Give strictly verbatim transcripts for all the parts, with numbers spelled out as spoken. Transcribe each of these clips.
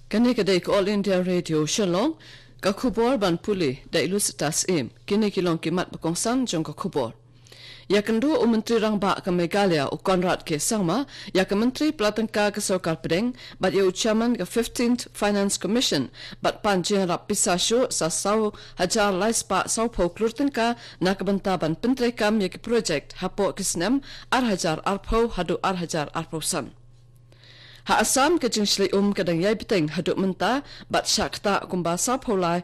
Kane ka dei ka All India Radio Shillong, ka khubor ban pule da i Lusitas Im. Kine ki long ki mat ba kongsan jong ka khubor. Ïakynduh u Myntri Rangbah ka Meghalaya u Conrad K Sangma, ïa ka Myntri Pla Tyngka ka Sorkar Pdeng, bad ïa u Chairman ka fifteenth Finance Commission, bad pan jingïarap pisa shuh sa saw hajar lai spah saw phew klur tyngka na ka bynta ban pyntreikam ïa ki project hapoh ki snem ar hajar arphew haduh ar hajar arphew san. Ha Assam ka jingshlei um ka dang ïai bteng haduh mynta bad shah ktah kumba saw phew lai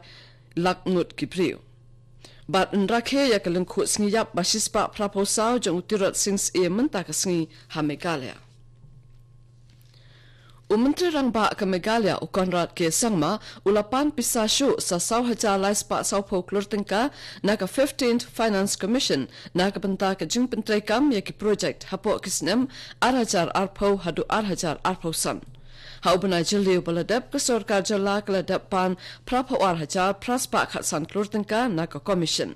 lak ngut ki briew. Bad yn rakhe ïa ka lyngkhuh sngi ïap ba shispah phra phew saw jong u Tirot Sing Syiem mynta ka sngi ha Meghalaya. U Myntri Rangbah ka Meghalaya u Conrad K Sangma u la pan pisa shuh sa saw hajar lai spah saw phew klur tyngka na ka fifteenth Finance Commission na ka bynta ka jingpyntreikam ïa ki project hapoh ki snem ar hajar arphew haduh ar hajar arphew san. Ha u bnai Jylliew ba la dep ka sorkar jylla ka la dep pan phra phew ar hajar phra spah khatsan klur tyngka na ka commission.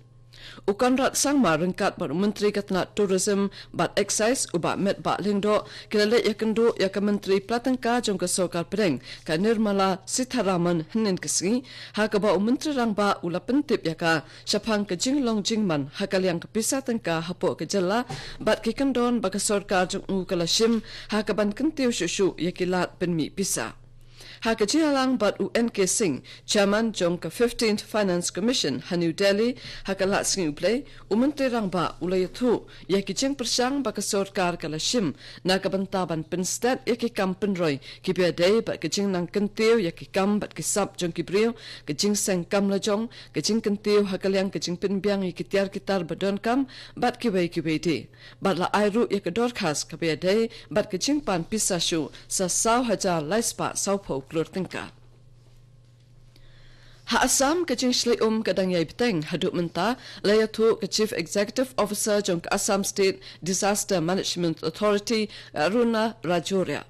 U Conrad Sangma ryngkat bad u Myntri ka tnat Tourism bad Excise u Bah Metbah Lyngdoh ki la leit ïakynduh ïa ka Myntri Pla Tyngka jong ka Sorkar Pdeng ka Nirmala Sitharaman hynnin ka sngi, ha kaba u Myntri Rangbah u la pyntip ïa ka shaphang ka jinglong jingman ha ka liang ka pisa tyngka hapoh ka jylla bad ki kyndon ba ka sorkar jong u ka la shim ha kaban kyntiew shuh shuh ïa ki lad pynmih pisa. Ha ka jingïalang bad u N K Singh, Chairman jong ka fifteenth Finance Commission ha New Delhi, ha ka lad sngi U Blei, u Myntri Rangbah u la ïathuh ïa ki jingpyrshang ba ka sorkar ka la shim na ka bynta ban pynstet ïa ki kam pynroi kiba ïadei bad ka jingnang kyntiew ïa ki kam bad ki sap jong ki briew, ka jingseng kam lajong, ka jingkyntiew ha ka liang ka jingpynbiang ïa ki tiar ki tar ba donkam bad kiwei kiwei de. Bad la ai ruh ïa ka dorkhas kaba ïadei bad ka jingpan pisa shuh sa saw hajar lai spah saw phew klur tyngka. Ha Assam ka jingshlei um ka dang ïai bteng haduh mynta, la ïathuh ka Chief Executive Officer jong ka Assam State Disaster Management Authority, Aruna Rajoria.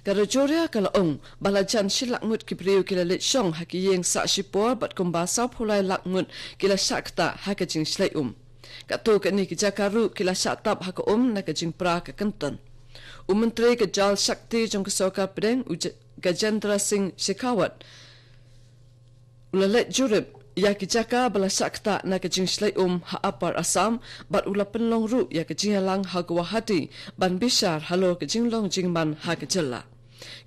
Ka Rajoria ka la ong ba la jan shi lak ngut ki briew ki la leit shong ha ki ïing sah shipor bad kumba saw phew lai lak ngut ki la shah ktah ha ka jingshlei um. Katto katne ki jaka ruh ki la shah tap ha ka um na ka jingpra ka kynton. U Myntri ka Jal Shakti jong ka Sorkar Pdeng u J-, Gajendra Singh Shekhawat u la leit jurip ïa ki jaka ba la shah ktah na ka jingshlei um ha Upper Assam bad u la pynlong ruh ïa ka jingïalang ha Guwahati ban bishar halor ka jinglong jingman ha ka jylla.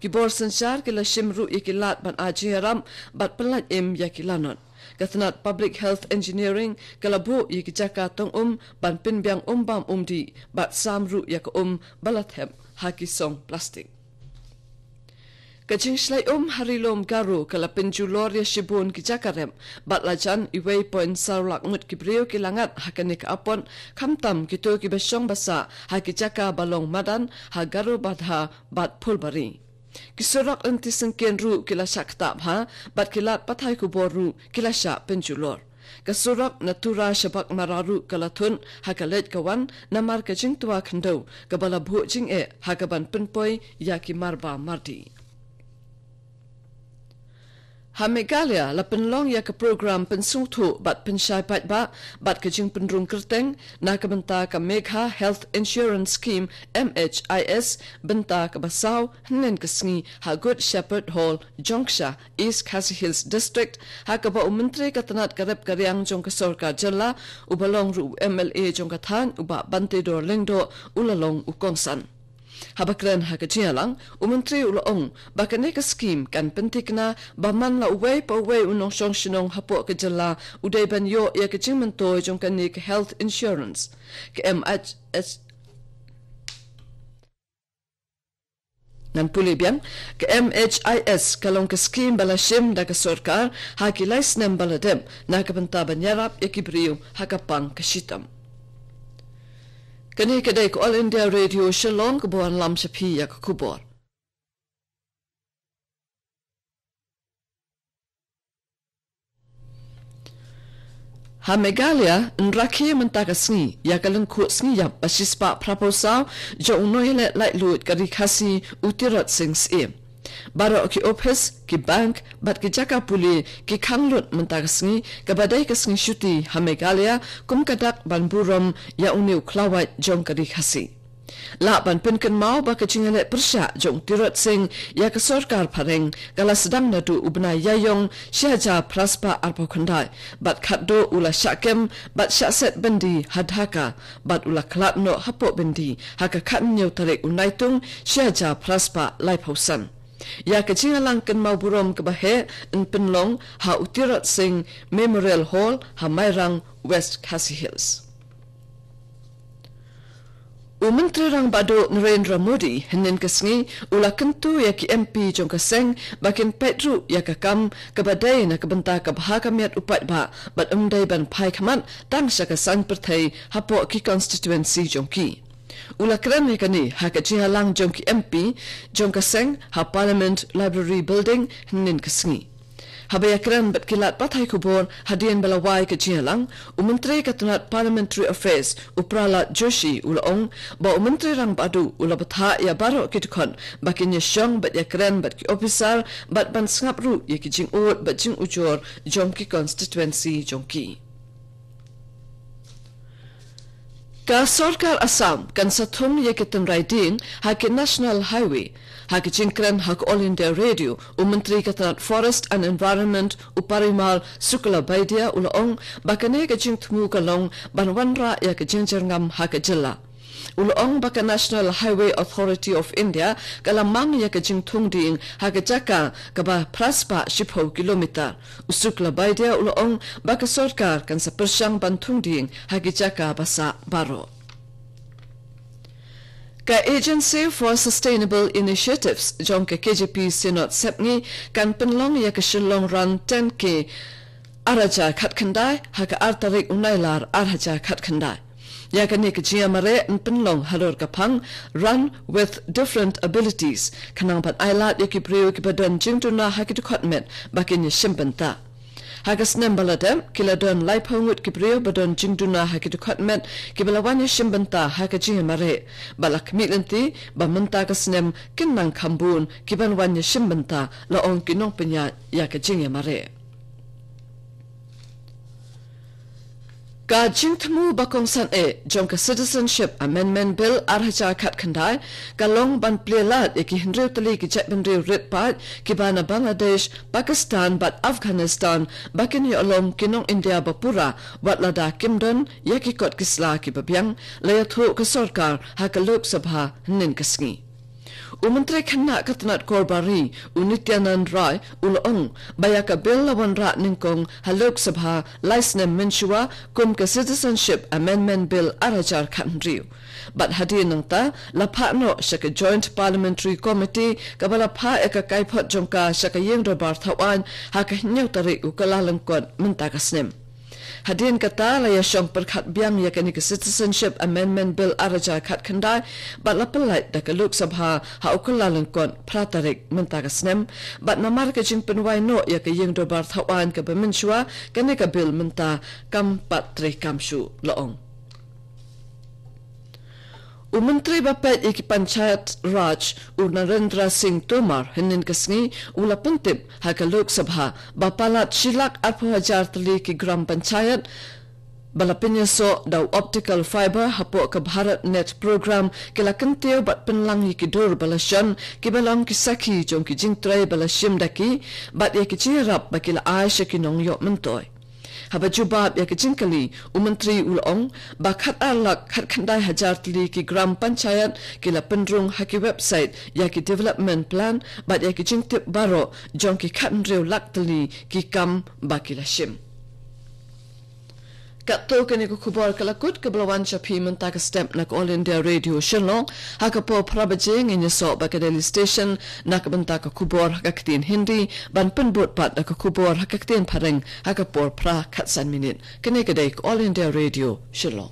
Ki bor synshar ki la shim ruh ïa ki lad ban ai jingïarap bad pynlait im ïa ki lanot. Ka tnat Public Health Engineering ka la buh ïa ki jaka tong um ban pynbiang um bam um dih bad sam ruh ïa ka um ba la thep ha ki song plastik. Ka jingshlei um ha Ri Lum Garo ka la pynjulor ïa shibun ki jaka rep bad la jan uwei point saw lak ngut ki briew ki la ngat ha kane ka apot, khamtam kito kiba shong ba sah ha ki jaka ba long madan ha Garo Badha bad Phulbari. Ki surok lynti syngkien ruh ki la shah ktah bha bad ki lad pathai khubor ruh ki la shah pynjulor. Ka surok na Tura sha Baghmara ruh ka la thut ha ka leit ka wan namar ka jingtwa khyndew kaba la buh jingeh ha kaban pynpoi ïa ki marba mardi. Ha Meghalaya la pynlong ïa ka program pynsngewthuh bad pynshai paidbah bad ka jingpynrung kyrteng na ka bynta ka Megha Health Insurance Scheme, M H I S, bynta kaba saw hynnin ka sngi ha Good Shepherd Hall, Jongksha, East Khasi Hills District, ha kaba u Myntri ka tnat ka rep ka riang jong ka sorkar jylla, uba long ruh u M L A jong ka thaiñ, u Bah Bantedor Lyngdoh, u la long u kongsan. Haba kren ha ka jingïalang, u Myntri u la ong ba kane ka skhim kan pynthikna ba man la uwei pa uwei u nongshong shnong hapoh ka jylla u dei ban ïoh ïa ka jingmyntoi jong kane ka health insurance. Ka M H S, ngan pule biang, ka M H I S ka long ka skhim ba la shim da ka sorkar ha ki lai snem ba la dep na ka bynta ban ïarap ïa ki briew ha ka pang ka shitom. Kane ka dei ka All India Radio Shillong kaba wanlam sha phi ïa ka khubor. Ha Meghalaya, yn rakhe mynta ka sngi ïa ka lyngkhuh sngi ïap ba shispah phra phew saw jong u nongïaleh laitluid ka Ri Khasi u Tirot Sing Syiem. Baroh ki ophis, ki bank bad ki jaka pule ki khang lut mynta ka sngi kaba dei ka sngi shuti ha Meghalaya kum ka dak ban burom ïa une u khlawait jong ka Ri Khasi. Lah ban pynkynmaw ba ka jingïaleh pyrshah jong u Tirot Sing ïa ka sorkar phareng ka la sdang naduh u bnai Ïaïong shi hajar phra spah arphew khyndai, bad khatduh u la shah kem bad shah set byndi ha Dhaka, bad u la khlad noh hapoh byndi ha ka khathynñiew tarik u Naitung shi hajar phra spah laiphew san. Ïa ka jingïalang kynmaw burom kaba heh yn pynlong ha u Tirot Sing Memorial Hall ha Mairang, West Khasi Hills. U Myntri Rangbah Duh Narendra Modi hynnin ka sngi u la kyntu ïa ki M P jong ka seng ba kin peit ruh ïa ka kam kaba dei na ka bynta ka bha ka miat u paidbah, bad ym dei ban phai khmat tang sha ka saiñ pyrthei hapoh ki constituency jong ki. U la kren ïa kane ha ka jingïalang jong ki M P jong ka seng ha Parliament Library Building hynnin ka sngi. Haba ïakren bad ki lad pathai khubor hadien ba la wai ka jingïalang, u Myntri ka tnat Parliamentary Affairs u Pralhad Joshi u la ong ba u Myntri Rangbah Duh u la bthah ïa baroh ki dkhot ba kin ïashong bad ïakren bad ki ophisar bad ban sngap ruh ïa ki jingud bad jingujor jong ki constituency jong ki. Ka sorkar Assam kan sa thung ïa ki tynrai dieng ha ki National Highway. Ha ka jingkren ha ka All India Radio, u Myntri ka tnat Forest and Environment u Parimal Suklabaidya u la ong ba kane ka jingthmu ka long ban wanrah ïa ka jingjyrngam ha ka jylla. U la ong ba ka National Highway Authority of India ka la mang ïa ka jingthung dieng ha ka jaka kaba phra spah shiphew kilometer. U Suklabaidya u la ong ba ka sorkar kan sa pyrshang ban thung dieng ha ki jaka ba sah baroh. Ka Agency for Sustainable Initiatives jong ka K J P Synod Sepngi kan pynlong ïa ka Shillong Run ten K ar hajar khatkhyndai ha ka ar tarik u Nailar ar hajar khatkhyndai. Ïa kane ka jingïamareh yn pynlong halor ka phang Run with Different Abilities, khnang ban ailad ïa ki briew kiba don jingduna ha ki dkhot met ba kin ïashim bynta. Ha ka snem ba la dep, ki la don laiphew ngut ki briew ba don jingduna ha ki dkhot met kiba la wan ïashim bynta ha ka jingïamareh, bad la khmih lynti ba mynta ka snem kin nang kham bun kiban wan ïashim bynta, la ong ki nongpynïaid ïa ka jingïamareh. Ka jingthmu ba kongsan eh jong ka Citizenship Amendment Bill ar hajar khatkhyndai ka long ban plie lad ïa ki hynriew tylli ki jaitbynriew rit paid kiba na Bangladesh, Pakistan bad Afghanistan ba kin ïoh long ki nong India ba pura, wat lada kim don ïa ki kot ki sla kiba biang, la ïathuh ka sorkar ha ka Lok Sabha hynnin ka sngi. U Myntri Khynnah ka tnat Korbar Ri, u Nityanand Rai, u la ong ba ïa ka bill la wanrah nyngkong ha Lok Sabha lai snem mynshuwa kum ka Citizenship Amendment Bill ar hajar khathynriew. Bad hadien nangta la phah noh sha ka Joint Parliamentary Committee kaba la phah ïa ka kaiphod jong ka sha ka Ïing Dorbar Thawaiñ ha ka hynñiew tarik u Kyllalyngkot mynta ka snem. Hadien kata la ïashong pyrkhat biang ïa kane ka Citizenship Amendment Bill ar hajar khatkhyndai, bad la pyllait da ka Lok Sabha ha u Kyllalyngkot phra tarik mynta ka snem, bad namar ka jingpynwai noh ïa ka Ïing Dorbar Thawaiñ kaba mynshuwa, kane ka bill mynta kam pat treikam shuh, la ong. U Myntri ba peit ïa ki Panchayat Raj, u Narendra Singh Tomar, hynnin ka sngi u la pyntip ha ka Lok Sabha ba palat shi lak arphew hajar tylli ki Gram Panchayat ba la pynïasoh da u optical fiber hapoh ka Bharat Net Program ki la kyntiew bad pynlang ïa ki dur ba la shon kiba long ki sakhi jong ki jingtrei ba la shim da ki, bad ïa ki jingïarap ba ki la ai sha ki nongïoh myntoi. Haba jubab ïa ka jingkylli, u Myntri u la ong ba khat ar lak khatkhyndai hajar tylli ki Gram Panchayat ki la pynrung ha ki website ïa ki development plan bad ïa ki jingtip baroh jong ki khathynriew lak tylli ki kam ba ki la shim. Katto kane ka khubor ka la kut kaba la wan sha phi mynta ka step na ka All India Radio Shillong. Ha ka por phra baje ngin ïasoh bad ka Delhi Station na ka bynta ka khubor ha ka ktien Hindi, ban pynbud pat da ka khubor ha ka ktien Phareng ha ka por phra khatsan minit. Kane ka dei ka All India Radio Shillong.